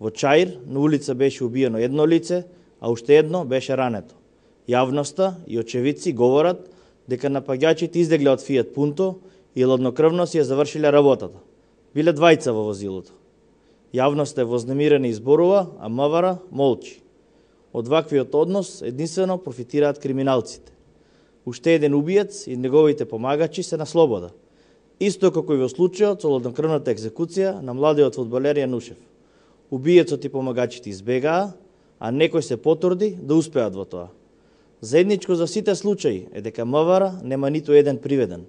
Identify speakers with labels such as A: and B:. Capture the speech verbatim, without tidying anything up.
A: Во Чаир на улица беше убиено едно лице, а уште едно беше рането. Јавноста и очевидци говорат дека напаѓачите излегле од Фијат Пунто и ладнокрвно си ја завршиле работата. Биле двајца во возилото. Јавноста е вознемирена и зборува, а МВР молчи. Од ваквиот однос единствено профитираат криминалците. Уште еден убиец и неговите помагачи се на слобода. Исто како и во случајот со ладнокрвната екзекуција на младиот фудбалер Јанушев. Убиецот и помагачите избегаа, а некој се потруди да успеат во тоа. Заедничко за сите случаи е дека МВР нема ниту еден приведен.